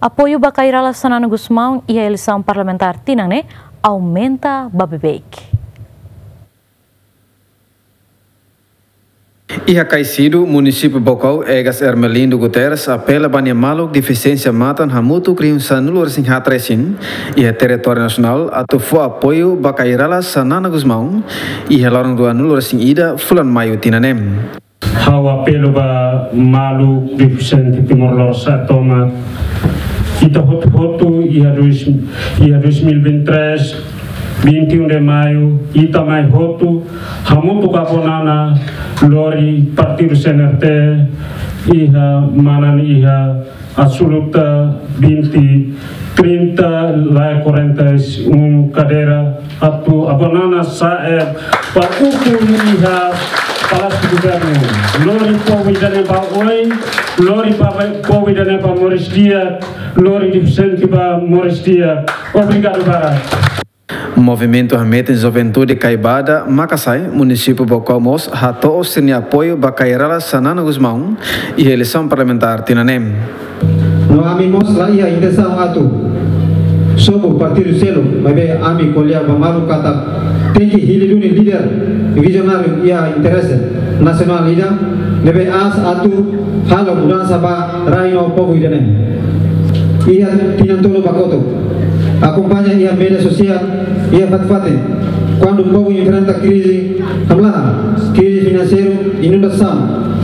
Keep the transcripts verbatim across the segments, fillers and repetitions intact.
Apoiu ba Kay Rala Xanana Gusmão iha eleisaun parlamentár tinan ne'e aumenta ba beibeik. Iha Caixido, munisípiu Baucau, Egas Ermelindo Guterres apela ba nia maluk defisiénsia matan hamutuk rihun sanulu-resin-haat resin iha territóriu nasionál atu fó apoiu ba Kay Rala Xanana Gusmão iha loron ruanulu-resin-ida fulan Maiu tinan ne'e. Ha'u apela ba maluk defisiente Timor Leste sa'e tomak. Ita hotu-hotu iha dois, iha dois mil e vinte e três, vinte e um de maio, ita mai hotu hamutuk ho Avó Nana lori partidu C N R T iha manan iha absoluta vinte, trinta, la quarenta e um kadeira atu Avó Nana sa'e ba ukun iha Palásiu Governu. Lori povu ida-ne'e ba oin, lori ba povu ida-ne'e ba moris di'ak, lori defisiente ba moris di'ak. Obrigadu barak. Movimentu Hametin Juventude Kaibada Makasae, munisípiu Baucau mós hato'o sira-nia apoiu ba Kay Rala Xanana Gusmão iha eleisaun parlamentár tinan ne'e. No ami mós la iha intensaun atu sobu partidu seluk, maibé ami ko'alia ba maluk katak tenke hili duni líder vizionáriu iha interese nasionál ida, ne'ebé aas atu halo mudansa ba rai no povu ida-ne'e. Iha tinan tolu ba kotuk, akompaña iha média sosiál, iha fatin-fatin, kuandu povu enfrenta krize hamlaha, krize finanseiru, inundasaun,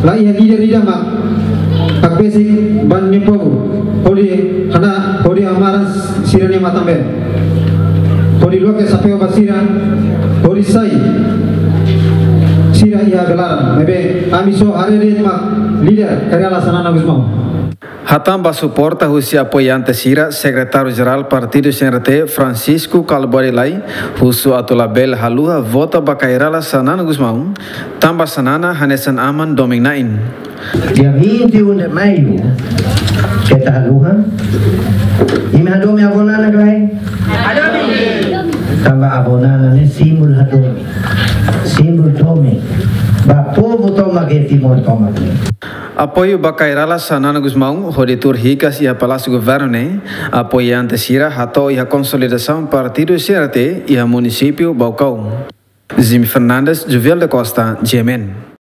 la iha líder ida mak hakbesik ba nia povu, hodi hana, hodi hamaran sira-nia matan-been, hodi loke xapeu ba sira, hodi sai sira iha belaran. Maibé ami só haree de'it mak líder Kay Rala Xanana Gusmão. Hatán ba suporta husi apoiante sira, Sekretáriu-Jerál Partidu C N R T, Francisco Kalbuadi Lay, husu atu labele haluha vota ba Kay Rala Xanana Gusmão, tanba Xanana hanesan aman domin-na'in. Dia vinte e um de maio, keta haluha. Imi hadomi Avó Nana ka lae? Tanba Avó Nana ne'e símbolu hadomi. Símbolu domin. Ba povu tomak iha Timor tomak. Apoiu ba Kay Rala Xanana Gusmão, hodi tuur hikas iha Palásiu Governu ne'e, apoiante sira hato'o iha konsolidasaun partidu C N R T iha munisípiu Baucau. Jimmy Fernandes, Jovial da Costa, G M N.